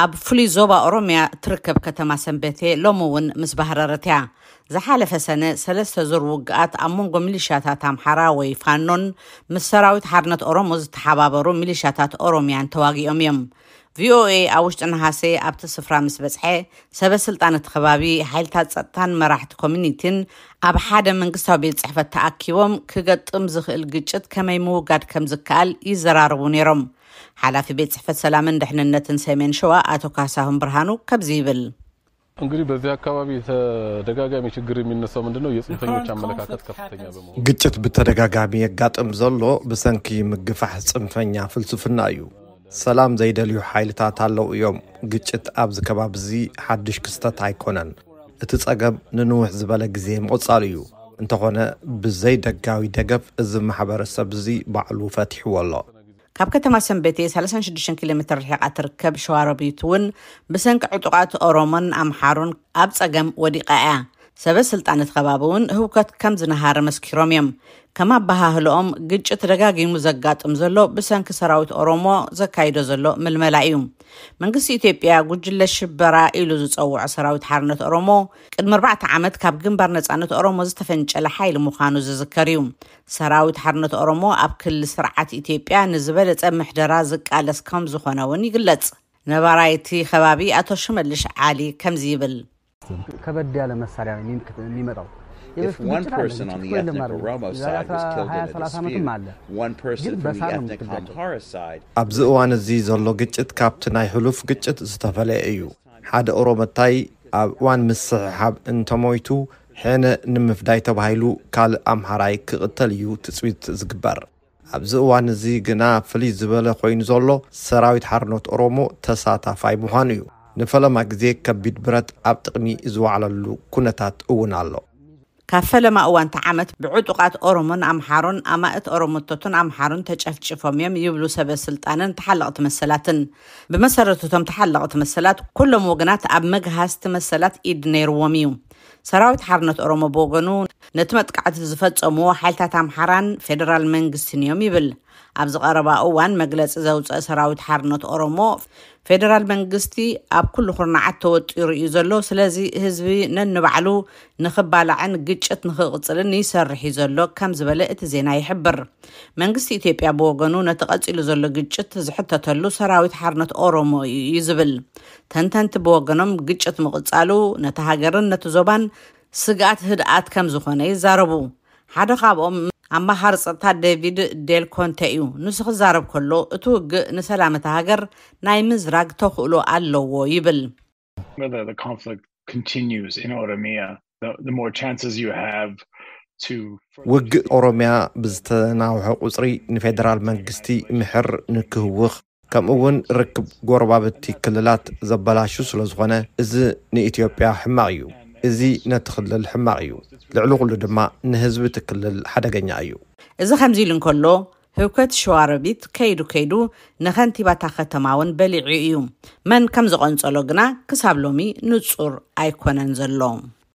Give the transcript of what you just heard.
ኣብ ፍሉይ ዞባ ኦሮምያ እትርከብ ከተማ ሰንበቴ ሎሚ እውን ምስ ባህረረት እያ። ዝሓለፈ ሰነ ሰለስተ ዙር ውግኣት ኣብ መንጎ ሚሊሻታት ኣምሓራ ወይ ፋኖን ምስ ሰራዊት ሓርነት ኦሮሞ ዝተሓባበሩ ሚሊሻታት ኦሮምያን ተዋጊኦም እዮም። ቪኦኤ ኣብ ውሽጢ ነሃሴ ኣብቲ ስፍራ ምስ በጽሐ፣ ሰበ ስልጣን እቲ ከባቢ፣ ሓይልታት ጸጥታን መራሕቲ ኮሚኒቲን ኣብ ሓደ መንግስታዊ ቤት ጽሕፈት ተኣኪቦም ክገጥም ዝኽእል ግጭት ከመይ ምውጋድ ከም ዝከኣል ይዘራረቡ ነይሮም። ሓላፊ ቤት ጽሕፈት ሰላምን ድሕንነትን ሰሜን ሸዋ ኣቶ ካሳሁን ብርሃኑ ከምዚ ይብል። እንግዲህ በዚህ አካባቢ ተደጋጋሚ ችግር የሚነሳው ምንድነው? የጽንፈኞች አመለካከት ከፍተኛ በመሆኑ ግጭት ብተደጋጋሚ የጋጥም ዘሎ ብሰንኪ ምግፋሕ ጽንፈኛ ፍልስፍና እዩ። ሰላም ዘይደልዩ ሓይልታት ኣለዉ እዮም። ግጭት ኣብዚ ከባቢ እዚ ሓድሽ ክስተት ኣይኮነን። እቲ ጸገም ንንውሕ ዝበለ ግዜ ምቕጻሉ እዩ። እንተኾነ ብዘይ ደጋዊ ደገፍ እዚ ማሕበረሰብ እዚ ባዕሉ ፈቲሕዎ ኣሎ። ካብ ከተማ ሰንበቴ ሰላሳን ሽዱሽተን ኪሎ ሜትር ርሒቓ ትርከብ ሸዋሮቢት እውን ብሰንኪ ዕጡቓት ኦሮሞን ኣምሓሩን ኣብ ጸገም ወዲቓ እያ። ሰበ ስልጣን እቲ ከባቢ እውን ህውከት ከም ዝነሃረ መስኪሮም እዮም። ከም ኣበሃህልኦም ግጭት ደጋጊሙ ዘጋጥም ዘሎ ብሰንኪ ሰራዊት ኦሮሞ ዘካይዶ ዘሎ ምልመላ እዩ። መንግስቲ ኢትዮጵያ ጉጅለ ሽበራ ኢሉ ዝጸውዖ ሰራዊት ሓርነት ኦሮሞ ቅድሚ ኣርባዕተ ዓመት ካብ ግንባር ነጻነት ኦሮሞ ዝተፈንጨለ ሓይሊ ምዃኑ ዝዝከር እዩ። ሰራዊት ሓርነት ኦሮሞ ኣብ ክልል ስርዓት ኢትዮጵያ ንዝበለጸ ምሕደራ ዝቃለስ ከም ዝኾነ እውን ይግለጽ። ነባራይቲ ከባቢ ኣቶ ሽመልሽ ዓሊ ከምዚ ይብል። ከበድ ያለ መሳሪያ ነው የሚመጣው። If one person on the ethnic Oromo side was killed in a dispute, one person from the ethnic Amhara side ኣብዚ እዋን እዚ ዘሎ ግጭት ካብቲ ናይ ሕሉፍ ግጭት ዝተፈለየ እዩ። ሓደ ኦሮመታይ ኣብ እዋን ምስሕሓብ እንተሞይቱ ሕነ ንምፍዳይ ተባሂሉ ካልእ ኣምሓራይ ክቕተል እዩ ትፅቢት ዝግበር። ኣብዚ እዋን እዚ ግና ፍልይ ዝበለ ኮይኑ ዘሎ ሰራዊት ሓርነት ኦሮሞ ተሳታፋይ ምዃኑ እዩ። ንፈለማ ግዜ ከቢድ ብረት ኣብ ጥቕሚ ዝወዓለሉ ኩነታት እውን ኣሎ። ካብ ፈለማ እዋን ተዓመት ብዕጡቓት ኦሮሞን ኣምሓሮን ኣማእት ኦሮሞቶትን ኣምሓሮን ተጨፍጭፎም እዮም ይብሉ ሰበ ስልጣንን ተሓለቕቲ መሰላትን። ብመሰረቱ እቶም ተሓለቕቲ መሰላት ኩሎም ወገናት ኣብ መግሃስቲ መሰላት ኢድ ነይርዎም እዩ። ሰራዊት ሓርነት ኦሮሞ ብወገኑ ነቲ መጥቃዕቲ ዝፈጸምዎ ሓይልታት ኣምሓራን ፌደራል መንግስትን እዮም ይብል። ኣብዚ ቀረባ እዋን መግለጺ ዘውፀአ ሰራዊት ሓርነት ኦሮሞ ፌደራል መንግስቲ ኣብ ኩሉ ኩርናዓት ተወጢሩ እዩ ዘሎ፣ ስለዚ ህዝቢ ነንባዕሉ ንኽባላዕን ግጭት ንኽቕፅልን ይሰርሕ እዩ ዘሎ ከም ዝበለ እቲ ዜና ይሕብር። መንግስቲ ኢትዮጵያ ብወገኑ ነቲ ቀፂሉ ዘሎ ግጭት ዝሕተተሉ ሰራዊት ሓርነት ኦሮሞ እዩ ዝብል። ተንተንቲ ብወገኖም ግጭት ምቕፃሉ ነቲ ሃገርን ነቲ ዞባን ስግኣት ህድኣት ከም ዝኾነ ይዛረቡ። ሓደ ካብኦም ኣማኻሪ ጸጥታ ዴቪድ ዴል ኮንተ እዩ። ንሱ ክዛረብ ከሎ እቲ ውግእ ንሰላም እታ ሃገር ናይ ምዝራግ ተኽእሎ ኣለዎ ይብል። Whether the conflict continues in Oromia, the, the more chances you have to ውግእ ኦሮሚያ ብዝተናውሐ ቁፅሪ ንፌደራል መንግስቲ ምሕር ንክህውኽ ከምኡ እውን ርክብ ጎረባብቲ ክልላት ዘበላሹ ስለ ዝኾነ እዚ ንኢትዮጵያ ሕማቕ እዩ። እዚ ነቲ ክልል ሕማቕ እዩ። ልዕሊ ኩሉ ድማ ንህዝቢ እቲ ክልል ሓደገኛ እዩ። እዚ ከምዚ ኢሉ እንከሎ ህውከት ሸዋሮቢት ከይዱ ከይዱ ንኸንቲባታ ከተማ እውን በሊዑ እዩ። መን ከም ዝቐንጸሎ ግና ክሳብ ሎሚ ንጹር ኣይኮነን ዘሎ።